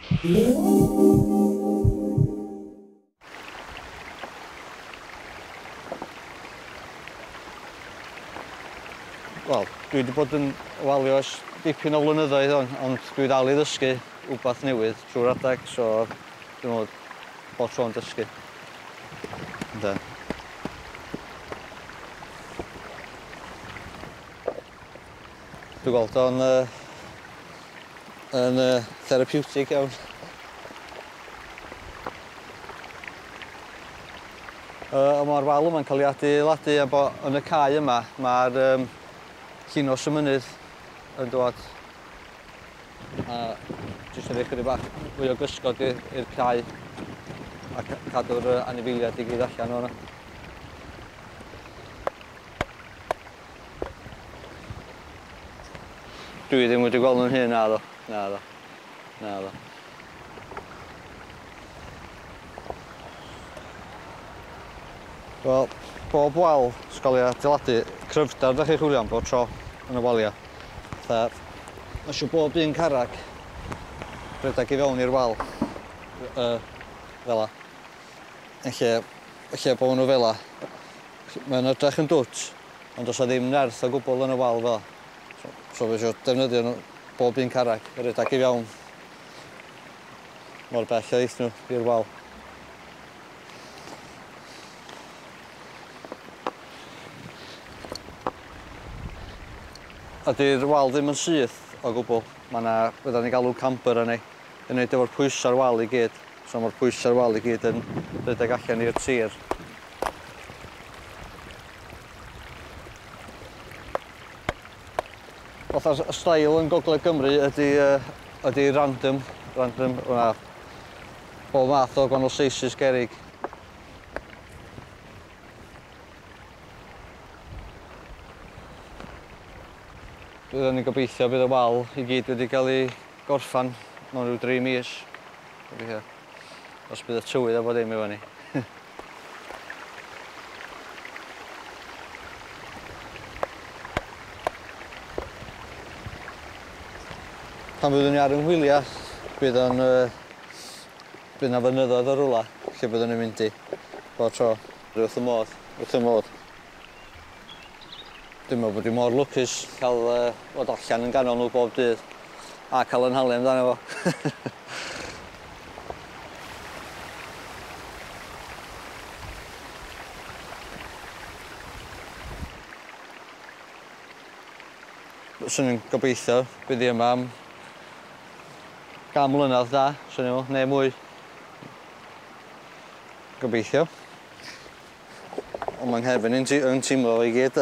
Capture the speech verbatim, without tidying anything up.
Wel, dwi wedi bod yn walio ers dipyn o flynyddoedd on, ond dwi dal i ddysgu wbath newydd trwy'r adag, so dwi'n meddwl bod tro'n dysgu. Ynde. Dwi'n gweld o'n uh, yn uh, therapeutic iawn. Uh, mae'r wal yma'n cael ei adeiladu a bo yn y cae yma mae'r um, llinos y mynydd yn dod a jyst yn rhoi chydig bach fwy o gysgod i'r cae a cadw'r anifeiliaid i gyd allan o'na. Dwi ddim wedi gweld nhw'n hyn, naddo, naddo, naddo. Wel, bob wal sy'n cael ei adeiladu, cryfder ydych chi'n chwilio am bob tro yn y waliau. Fatha, mae eisiau bob un carreg rhedeg i fewn i'r wal, uh, fel 'a. Yn lle, yn lle bod nhw fel 'a, mae'n edrych yn dwt, ond does 'na ddim nerth o gwbl yn y wal fel 'a. So, so fe eisiau defnyddio nhw bob un carreg, rhedeg i fewn mor bell a eith nhw i'r wal. A 'di'r wal ddim yn syth o gwbl. Mae yna, fydda ni'n galw camber arni, yn neud efo'r pwysa'r wal i gyd. So mae'r pwysa'r wal i gyd yn rhedeg allan i'r tir. Fatha'r steil yn Gogledd Gymru ydy, uh, ydy random, random, hwnna, bob math o gwahanol sizes gerrig. Byddwn ni'n gobeithio bydd y wal i gyd wedi cael ei gorffan mewn rhyw dri mis. Gobeithio. Os bydd y tywydd efo ddim efo ni. Pan fyddwn ni ar yng ngwyliau, bydd o'n uh, bydd 'na fynyddoedd o rwla lle byddwn ni'n mynd i bob tro. Wrth y modd, wrth y modd. Dwi'n meddwl bod fi mor lwcus cael uh, fod allan yn ganol nhw bob dydd a cael yn halu amdano fo. Swn i'n gobeithio bydd hi yma am gan mlynedd da, swn i'n meddwl, neu mwy. Gobeithio. Ond mae'n nghefn i'n teimlo i gyd.